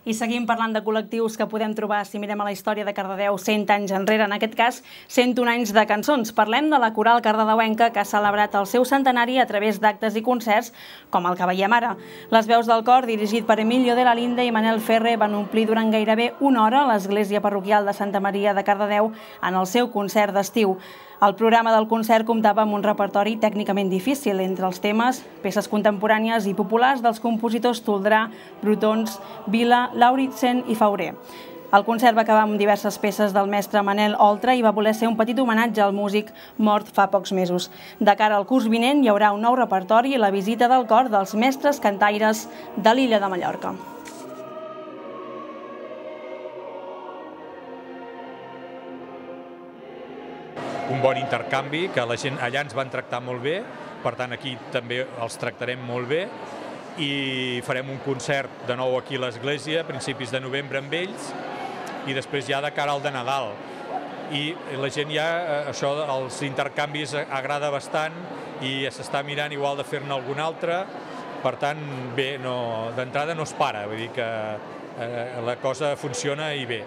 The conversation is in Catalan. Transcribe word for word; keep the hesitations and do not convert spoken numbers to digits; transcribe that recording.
I seguim parlant de col·lectius que podem trobar si mirem a la història de Cardedeu cent anys enrere, en aquest cas cent un anys de cançons. Parlem de la coral cardedeuenca que ha celebrat el seu centenari a través d'actes i concerts com el que veiem ara. Les veus del cor, dirigit per Emilio de la Linde i Manel Ferre, van omplir durant gairebé una hora l'església parroquial de Santa Maria de Cardedeu en el seu concert d'estiu. El programa del concert comptava amb un repertori tècnicament difícil, entre els temes, peces contemporànies i populars dels compositors Toldrà, Brotons, Vila, Lauritzen i Fauré. El concert va acabar amb diverses peces del mestre Manel Oltra i va voler ser un petit homenatge al músic mort fa pocs mesos. De cara al curs vinent hi haurà un nou repertori i la visita del cor dels mestres cantaires de l'illa de Mallorca. Un bon intercanvi, que la gent allà ens van tractar molt bé, per tant aquí també els tractarem molt bé i farem un concert de nou aquí a l'església a principis de novembre amb ells i després ja de cara al de Nadal. I la gent ja, això, els intercanvis agrada bastant i s'està mirant igual de fer-ne algun altre, per tant, bé, d'entrada no es para, vull dir que la cosa funciona i bé.